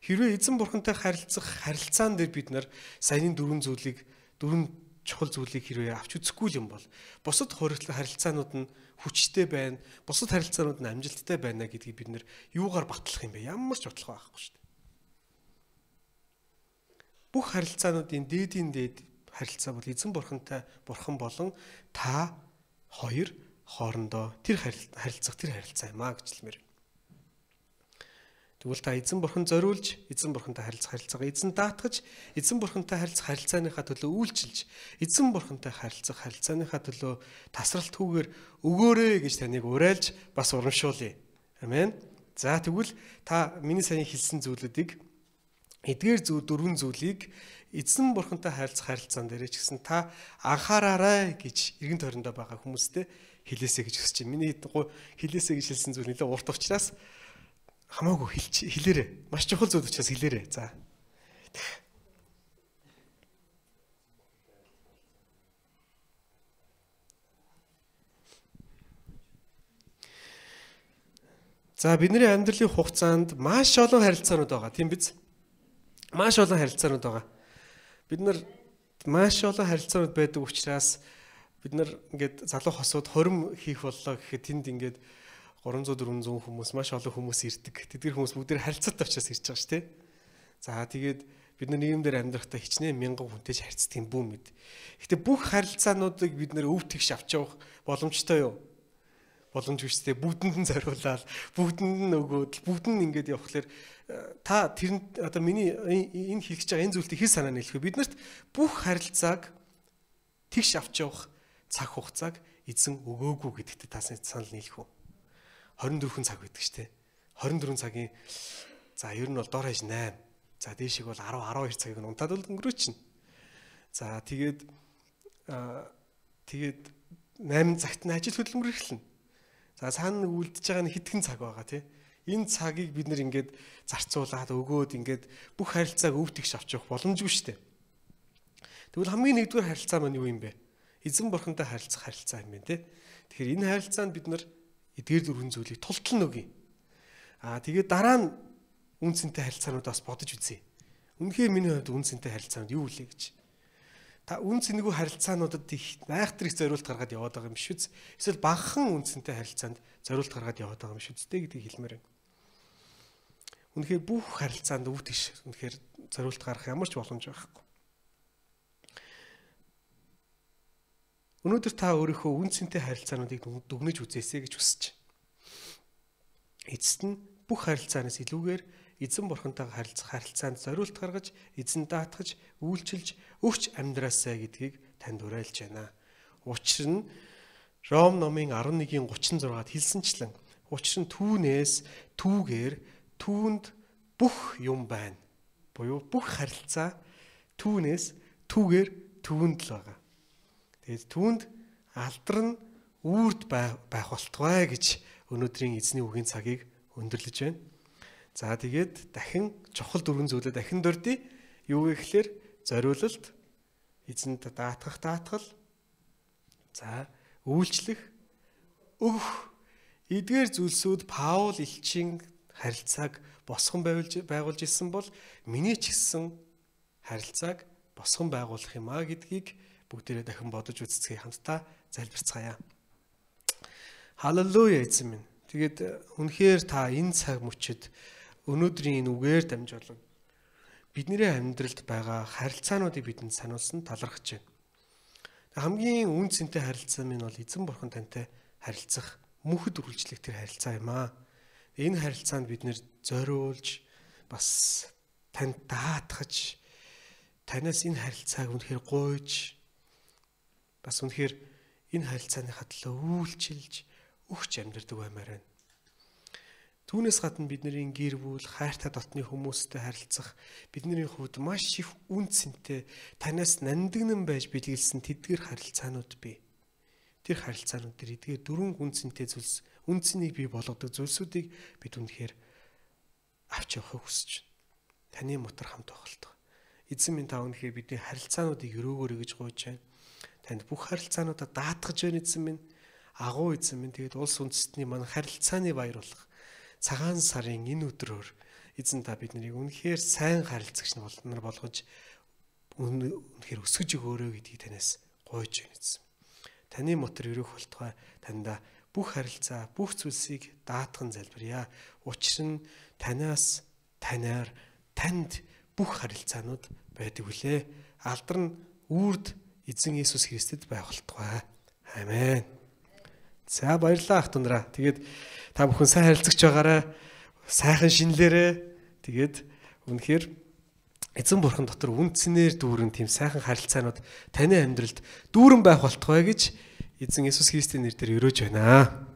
Хэрвээ эзэн бурхантай харилцах харилцаан дээр бид нар саяны дөрвөн зүйлийг дөрвөн чухал зүйлийг хэрвээ авч үзэхгүй юм бол бусад харилцаанууд нь хүчтэй байна, бусад харилцаанууд нь амжилттай байна гэдгийг бид нэр юугаар батлах юм бэ? Ямар ч батлах байхгүй шүү дээ. Бүх харилцаануудын дээдийн дээд харилцаа бол эзэн бурхантай бурхан болон та хоёр хоорондоо тэр харилцах тэр харилцаа юм а гэж хэлмээр. Тэгвэл та эзэн бурхан зориулж, эзэн бурхантай харилцах харилцаагаа эзэн даатгаж, эзэн бурхантай харилцах харилцааныхаа төлөө үйлчилж, эзэн бурхантай харилцах харилцааныхаа төлөө тасралтгүйгээр өгөөрэй гэж таныг уриалж бас урамшуулъя. Амен. За тэгвэл та миний саяхан хэлсэн зүйлүүдийг эдгээр зүйл дөрвөн зүйлийг эзэн бурхантай харилцах харилцаан дээр ч гэсэн та анхаараарай гэж эргэн тойрондоо байгаа хүмүүстэй хэлээсэй гэж хүсэж байна. Миний хэлээсэй гэж хэлсэн зүйл нэлээд урт учраас хамаагүй хэлж хэлээрэй. Маш чухал зүйл учраас хэлээрэй. За. За бидний амьдралын хугацаанд маш олон харилцаанууд байгаа. Тийм биз? Маш олон харилцаанууд байгаа. Бид нар маш олон харилцаанууд байдаг учраас бид нар ингээд залуу хосууд хорим хийх боллоо гэхэд тэнд ингээд гурамзуу дөрвөнзүү хүмүүс маш олон хүмүүс ирдэг. Тэдгээр хүмүүс бүгд харилцаатай учраас ирж байгаа шүү дээ. За тэгээд бид нар нийгэмдэр амьдрахдаа хичнээн мянган хүнтэй харьцдаг юм бүү мэд. Гэтэ бүх харилцаануудыг бид нар өв тэгш авч явах боломжтой юу? Боломж хүчтэй бүгдэнд нь зориулаад бүгдэнд нь өгөөд бүгд нь ингээд явхлаэр та тэр одоо миний энэ хэлж байгаа энэ зүйлтийг хэл санаа нийлэх. Биднэрт бүх харилцааг тэгш авч явах цаг хугацааг эзэн өгөөгүй гэдэгт та санал нийлэх үү? хорин дөрвөн цаг байдаг шүү дээ. хорин дөрвөн цагийн за ер нь бол дор хаяж найман. За дээшиг бол арав арав хоёр цагийг унтаад бол өнгөрөөчнө. За тэгээд тэгээд найман цагт нь ажил хөдөлмөр эхэлнэ. За цаана үлдэж байгаа нь хэдхэн цаг байгаа тий. Энэ цагийг бид нэр ингээд зарцуулаад өгөөд ингээд бүх харилцааг өв тэгш авч явах боломжгүй шүү дээ. Тэгвэл хамгийн нэгдүгээр харилцаа маань юу юм бэ? Эзэн бурхантай харилцах харилцаа юм байна тий. Тэгэхээр энэ харилцаанд бид нар эдгээр дөрвөн зүйлийг тултал нөгье. Аа тэгээд дараа нь үнцэнтэй харилцаануудаас бодож үзье. Үнэхээр миний хувьд үнцэнтэй харилцаанд юу үлээ гэж. Та үнцэнгүй харилцаануудад их айхтар их зориулт гаргаад яваад байгаа юм биш үү? Эсвэл багахан үнцэнтэй харилцаанд зориулт гаргаад яваад байгаа юм шүү дээ гэдгийг хэлмээр байна. Үнэхээр бүх харилцаанд өвт иш үнэхээр зориулт гарах ямар ч боломж байхгүй. Өнөөдөр та өөрийнхөө үнцэнтэй харилцаануудыг дүгнэж үзээсэй гэж хүсэж байна. Эцэст нь бүх харилцаанаас илүүгээр эзэн бурхантайгаа харилцах харилцаанд зориулт гаргаж, эзэн даатгаж, үйлчилж, өгч амьдраасай гэдгийг танд уриалж байна. Учир нь Ром номын арван нэгийн гучин зургаад хэлсэнчлэн учир нь түүнээс түүгээр түүнд бүх юм байна. Буюу бүх харилцаа түүнээс түүгээр түүнд л байгаа. Тэгээд түүнд алдар нь үрд байх болтугай гэж өнөөдрийн эзний үгийн цагийг өндөрлөж байна. За тэгээд дахин чухал дөрвөн зүйлээ дахин дурдъя. Юу гэхээр зориулалт, эзэнд даатгах даатгал, за үйлчлэх, өгөх. Эдгээр зүйлсүүд Паул элчийн харилцааг босгон байгуулж байгуулж ирсэн бол миний ч гэсэн харилцааг босгон байгуулах юм а гэдгийг бүгдээрээ дахин бодож үзцгээе, хамтдаа залбирцгаая. Халелуя эзэн минь. Тэгээд үнэхээр та энэ цаг мөчид өнөөдрийн энэ үгээр дамжуулан бидний амьдралд байгаа харилцаануудыг бидэнд сануулсан талархаж байна. Хамгийн үнцэнтэй харилцаа минь бол эзэн бурхан тантай харилцах мөнхөд үргэлжлэх тэр харилцаа юм аа. Энэ харилцаанд бид нэр зориулж бас танд даатгаж танаас энэ харилцааг үнэхээр гуйж бас үнэхээр энэ харилцааныхаа төлөө үйлчилж өгч амьдардаг баймаар байна. Түүнээс гадна бидний гэр бүл, хайртай дотны хүмүүстэй харилцах бидний хувьд маш их үнцэнтэй танаас нандинан байж бэлгэлсэн тэдгэр харилцаанууд бий. Тэр харилцаанууд дээр эдгээр дөрвөн үнцэнтэй зүйлс, үнцнийг бий болгодог зүйлсүүдийг бид үнэхээр авч явахыг хүсэж байна. Таны мотор хамт байхaltaа. Эзэн минь та үнэхээр бидний харилцаануудыг өрөөгөөрэй гэж гуйж байна. Танд бүх харилцаануудаа даатгаж байна эзэн минь. Агуу эзэн минь тэгээд улс үндэстний манай харилцааны баяр болох цагаан сарын энэ өдрөөр эзэн та биднийг үнэхээр сайн харилцагч нар болгож үнэхээр өсгөж өгөөрэй гэдгийг танаас гуйж байна эзэн. Таны мотор өрөөх болтугай танда бүх харилцаа, бүх зүйлсийг даатган залбирая. Учир нь танаас, танаар, танд бүх харилцаанууд байдаг үлээ. Алдар нь үрд эзэн Есүс Христэд байх болтугай. Амен. За баярлалаа ах дундраа. Тэгээд та бүхэн сайн харилцагч байгаарай. Сайхан шинэлээрээ. Тэгээд үнэхээр эзэн бурхан дотор үнцнээр дүүрэн тийм сайхан харилцаанууд таны амьдралд дүүрэн байх болтугай гэж эзэн Есүс Христийн нэрээр өрөөж байна.